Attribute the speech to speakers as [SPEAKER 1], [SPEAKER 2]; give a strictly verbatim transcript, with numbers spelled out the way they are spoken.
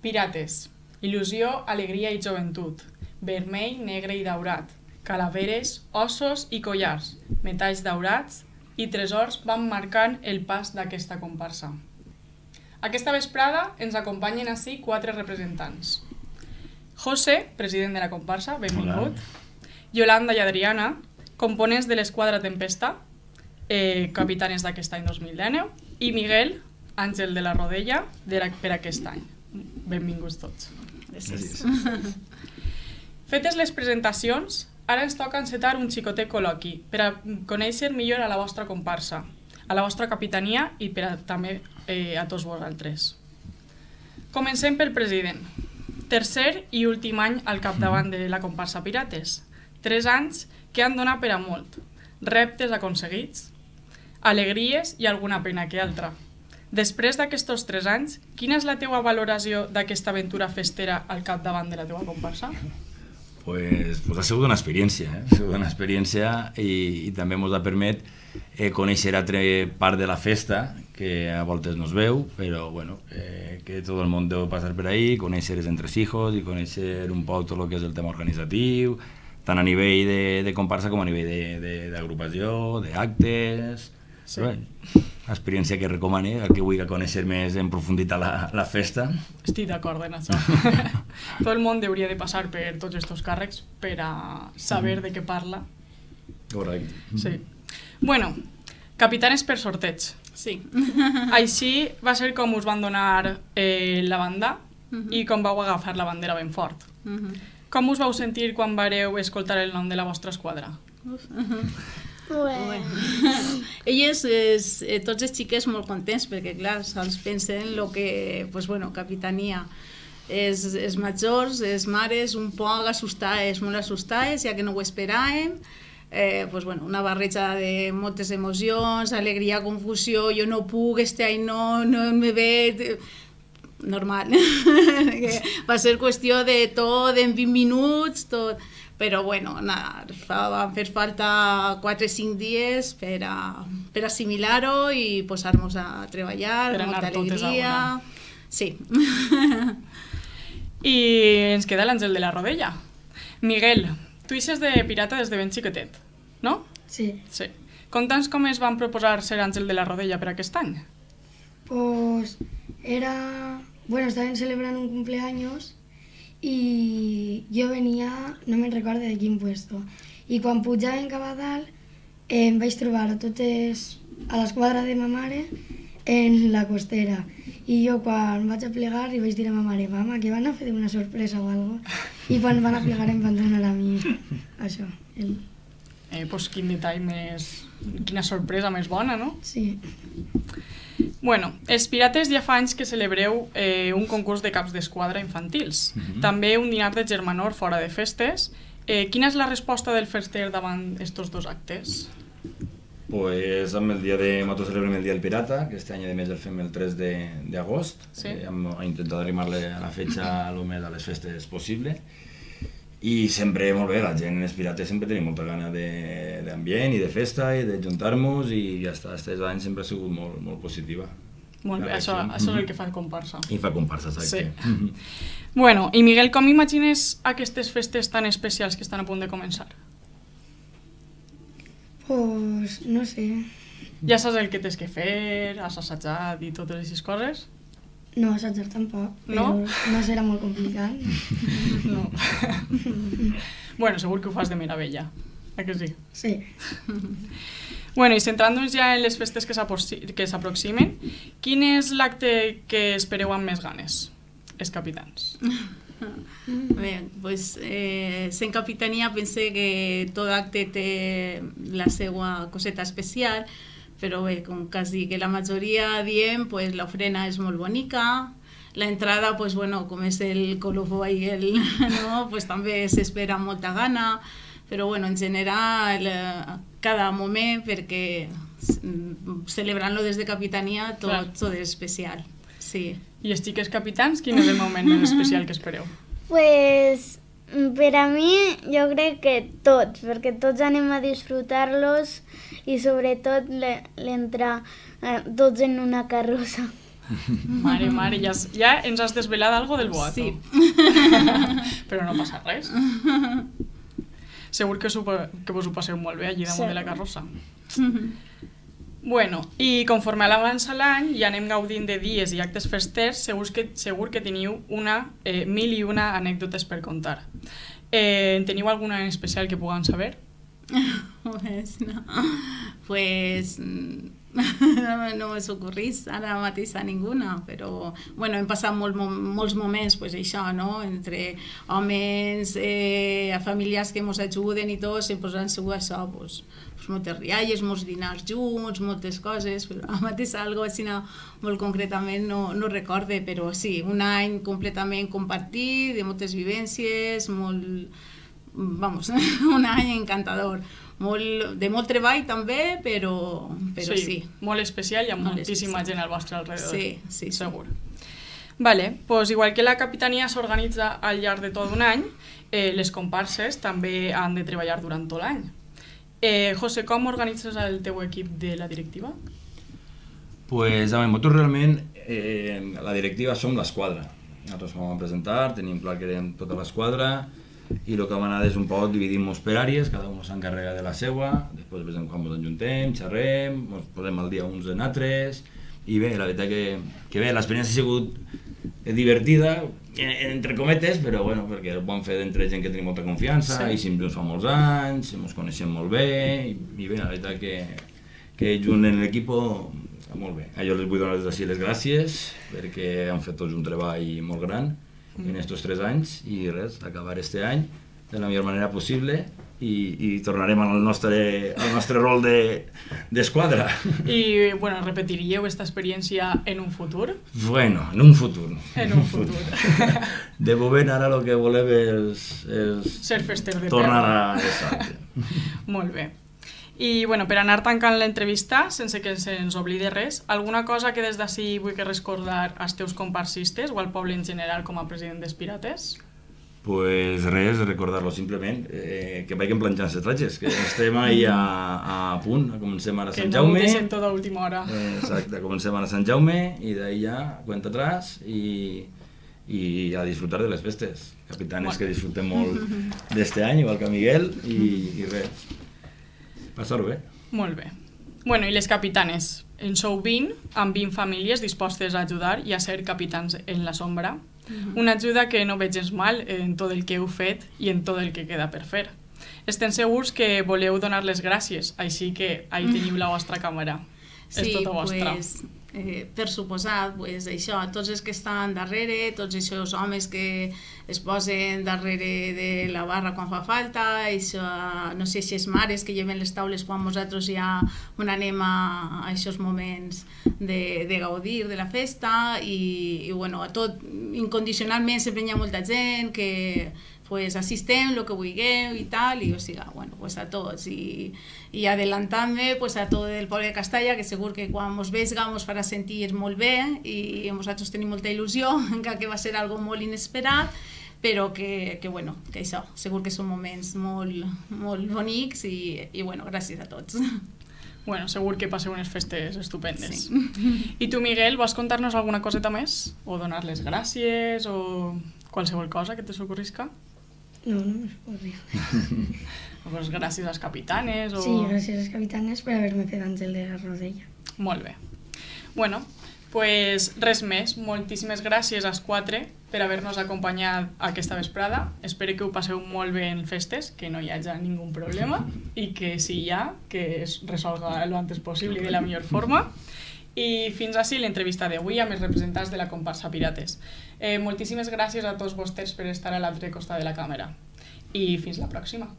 [SPEAKER 1] Pirates, il·lusió, alegria i joventut, vermell, negre i daurat, calaveres, ossos i collars, metalls daurats i tresors van marcant el pas d'aquesta comparsa. Aquesta vesprada ens acompanyen ací quatre representants. José, president de la comparsa, benvingut. Yolanda i Adriana, components de l'esquadra Tempesta, eh, capitanes d'aquest any dos mil dinou, i Miguel, àngel de la Rodella, de la, per aquest any. Benvinguts tots.
[SPEAKER 2] Gràcies.
[SPEAKER 1] Fetes les presentacions, ara ens toca encetar un xicotet col·loqui per a conèixer millor a la vostra comparsa, a la vostra capitania i per a, també eh, a tots vosaltres. Comencem pel president. Tercer i últim any al capdavant de la comparsa Pirates. Tres anys que han donat per a molt. Reptes aconseguits, alegries i alguna pena que altra. Després d'aquests tres anys, quina és la teua valoració d'aquesta aventura festera al capdavant de la teua comparsa?
[SPEAKER 2] Pues, pues ha sigut una experiència, eh? Ha sigut una experiència i, i també ens ha permet eh, conèixer altra part de la festa que a voltes no es veu, però bueno, eh, que tot el món deu passar per ahí, conèixer els entresijos i conèixer un poc tot el que és el tema organitzatiu, tant a nivell de, de comparsa com a nivell d'agrupació, d'actes... Sí. Experiència que recomane al que vulgui conèixer més en profunditat la, la festa.
[SPEAKER 1] Estic d'acord en això. Tot el món hauria de passar per tots aquests càrrecs per a saber de què parla.
[SPEAKER 2] Correcte.
[SPEAKER 1] Sí. Bueno, capitanes per sorteig.
[SPEAKER 3] Sí.
[SPEAKER 1] Així va ser com us van donar eh, la banda
[SPEAKER 3] uh-huh.
[SPEAKER 1] i com vau agafar la bandera ben fort.
[SPEAKER 3] Uh-huh.
[SPEAKER 1] Com us vau sentir quan vareu escoltar el nom de la vostra esquadra?
[SPEAKER 3] Uh-huh.
[SPEAKER 4] Bueno.
[SPEAKER 3] Elles, és, eh, tots els xiquets molt contents perquè clar, se'ls pensen el que, pues bueno, capitania. Els, els majors, les mares, un poc assustades, molt assustades, ja que no ho esperàvem. Eh, pues bueno, una barreja de moltes emocions, alegria, confusió, jo no puc, este any no, no me ve... Normal. Va ser qüestió de tot, en vint minuts, tot... Però bueno, nada, van fer falta quatre o cinc dies per, a, per assimilar-ho i posar-nos a treballar,
[SPEAKER 1] per
[SPEAKER 3] molta alegria. Sí.
[SPEAKER 1] I ens queda l'Àngel de la Rodella. Miguel, tu ixes de pirata des de ben xiquetet, no?
[SPEAKER 4] Sí.
[SPEAKER 1] Sí. Conta'ns com es van proposar ser Àngel de la Rodella per aquest any.
[SPEAKER 4] Pues era... Bueno, estaven celebrant un cumpleaños y yo venía, no me'n recordo de quin puesto, i quan pujàvem cap a dalt eh, em vaig trobar a totes, a l'esquadra de ma mare en la costera, i jo quan vaig a plegar li vaig dir a ma mare, mama, que van a fer una sorpresa o alguna cosa, i quan van a plegar em van donar a mi això. El...
[SPEAKER 1] Eh, pues quin detall més... Quina sorpresa més bona, no?
[SPEAKER 4] Sí.
[SPEAKER 1] Bueno, els Pirates ja fa anys que celebreu eh, un concurs de caps d'esquadra infantils.
[SPEAKER 2] Uh-huh.
[SPEAKER 1] També un dinar de germanor fora de festes. Eh, quina és la resposta del fester davant estos dos actes?
[SPEAKER 2] Pues amb el dia de... Nosaltres celebrem el dia del pirata, que este any a més el fem el tres d'agost.
[SPEAKER 1] Sí.
[SPEAKER 2] Eh, hem intentat arrimar-le a la fetxa el més a les festes possible. I sempre molt bé, la gent, els pirates sempre tenim molta gana d'ambient i de festa i de juntar-nos i ja està, aquests anys sempre ha sigut molt, molt positiva.
[SPEAKER 1] Molt bé, això, això és el que fa comparsa.
[SPEAKER 2] I fa comparsa, exacte.
[SPEAKER 1] Sí. Bueno, i Miguel, com imagines aquestes festes tan especials que estan a punt de començar?
[SPEAKER 4] Pues no sé.
[SPEAKER 1] Ja saps el que tens que fer, has assajat i totes aquestes coses?
[SPEAKER 4] No assajar tampoc, però
[SPEAKER 1] No?
[SPEAKER 4] no serà molt complicat.
[SPEAKER 1] No. Bueno, segur que ho fas de meravella, eh que sí?
[SPEAKER 4] Sí.
[SPEAKER 1] Bueno, i centrant-nos ja en les festes que s'aproximen, quin és l'acte que espereu amb més ganes, els capitans?
[SPEAKER 3] Bé, pues, eh, sent capitania pense que tot acte té la seva coseta especial, però bé, com quasi que la majoria diem, pues, l'ofrena és molt bonica, l'entrada, pues, bueno, com és el colofó i el, no? Pues, també s'espera amb molta gana, però bueno, en general, eh, cada moment, perquè celebrant-lo des de capitania, tot, tot és especial. Sí.
[SPEAKER 1] I els xiques capitans, quin és el moment més especial que espereu?
[SPEAKER 5] Pues per a mi jo crec que tots, perquè tots anem a disfrutar-los i sobretot l'entrar eh, tots en una carrossa.
[SPEAKER 1] Mare, mare, ja, ja ens has desvelat algo del boato.
[SPEAKER 3] Sí.
[SPEAKER 1] Però no passa res. Segur que, que vos ho passeu molt bé allí damunt sí. de la carrossa. Bueno, i conforme avança l'any i anem gaudint de dies i actes festers, segur que, segur que teniu una, eh, mil i una anècdotes per contar. Eh, en teniu alguna en especial que puguem saber?
[SPEAKER 3] Pues no, pues no me s'ocorrís ara mateix a ninguna, però bueno, hem passat molt, molts moments, pues això, no? Entre homes, eh, familiars que ens ajuden i tot, sempre han sigut això, pues, pues moltes rialles, molts dinars junts, moltes coses, però ara mateix algo així no, molt concretament no, no recorde, però sí, un any completament compartit, de moltes vivències, molt, vamos, un any encantador. Molt, de molt treball també, però, però sí, sí.
[SPEAKER 1] Molt especial i amb
[SPEAKER 3] molt
[SPEAKER 1] moltíssima
[SPEAKER 3] especial.
[SPEAKER 1] gent al vostre alrededor.
[SPEAKER 3] Sí, sí,
[SPEAKER 1] segur. Sí. Vale, pues igual que la capitania s'organitza al llarg de tot un any, eh, les comparses també han de treballar durant tot l'any. Eh, José, com organitzes el teu equip de la directiva?
[SPEAKER 2] Pues a nosaltres realment eh, la directiva som l'esquadra. Nosaltres vam a presentar, tenim clar que érem tota l'esquadra, i el que vam anar és un poc dividim-nos per àrees, cada un s'encarrega de la seua, després de quan ens ajuntem, xerrem, ens posem al dia uns en altres, i bé, la veritat que, que bé, l'experiència ha sigut divertida, entre cometes, però bueno, perquè ho vam fer d'entre gent que tenim molta confiança, sí. I sempre ens fa molts anys, ens coneixem molt bé, i, i bé, la veritat que, que junt en l'equip molt bé. Jo les vull donar des d'ací les gràcies, perquè han fet tots un treball molt gran, en estos tres anys, i res, acabar este any de la millor manera possible i, i tornarem al nostre, al nostre rol d'esquadra.
[SPEAKER 1] De, I, bueno, repetiríeu aquesta experiència en un futur?
[SPEAKER 2] Bueno, en un futur.
[SPEAKER 1] En un futur.
[SPEAKER 2] De moment ara el que volem és... és
[SPEAKER 1] ser fester de
[SPEAKER 2] tornar
[SPEAKER 1] terra.
[SPEAKER 2] A... Exacte.
[SPEAKER 1] Molt bé. I bueno, per anar tancant l'entrevista, sense que se'ns oblide res, alguna cosa que des d'ací vull que recordar als teus comparsistes o al poble en general com a president dels Pirates?
[SPEAKER 2] Pues res, recordar-lo simplement, eh, que vagin planxant les tratges, que estem ahí a, a punt, comencem ara a Sant Jaume.
[SPEAKER 1] Que no ho deixem tot a última hora.
[SPEAKER 2] Eh, exacte, comencem ara a Sant Jaume i d'ahí ja cuenta atrás i, i a disfrutar de les festes. Capitanes bueno. Que disfrutem molt d'este any, igual que Miguel, i, i res. Passar-ho bé.
[SPEAKER 1] Molt bé. Bueno, i les capitanes? En sou vint, amb vint famílies dispostes a ajudar i a ser capitans en la sombra. Uh-huh. Una ajuda que no veig gens mal en tot el que heu fet i en tot el que queda per fer. Estem segurs que voleu donar les gràcies, així que ahí teniu la vostra càmera.
[SPEAKER 3] Sí,
[SPEAKER 1] és tota vostra.
[SPEAKER 3] Pues, eh, per suposat, pues, això, tots els que estan darrere, tots aquests homes que es posen darrere de la barra quan fa falta, això, no sé, aquestes mares que lleven les taules quan nosaltres ja on anem a, a aquests moments de, de gaudir de la festa i, i bueno, a tot, incondicionalment sempre hi ha molta gent que pues assistem el que vulgueu i tal, i o sigui, bueno, pues a tots i, i adelantant-me pues a tot el poble de Castalla, que segur que quan mos veiga mos farà sentir molt bé i nosaltres tenim molta il·lusió, encara que va ser algo molt inesperat, però que, que bueno, que això, segur que són moments molt, molt bonics i, i bueno, gràcies a tots.
[SPEAKER 1] Bueno, segur que passeu unes festes estupendes.
[SPEAKER 3] Sí.
[SPEAKER 1] I tu, Miguel, vols contar-nos alguna coseta més? O donar les gràcies o qualsevol cosa que te s'ocorrisca?
[SPEAKER 4] No, no me s'ocorria.
[SPEAKER 1] Pues gràcies als capitanes o...
[SPEAKER 4] Sí, gràcies als capitanes per haver-me fet àngel de la rodella.
[SPEAKER 1] Molt bé. Bueno, pues res més. Moltíssimes gràcies als quatre per haver-nos acompanyat aquesta vesprada. Espero que ho passeu molt bé en festes, que no hi hagi ningú problema i que si hi ha, que es resolga lo antes possible i de la millor forma. I fins així l'entrevista d'avui amb els representants de la comparsa Pirates. Eh, moltíssimes gràcies a tots vostès per estar a l'altre costat de la càmera. I fins la pròxima.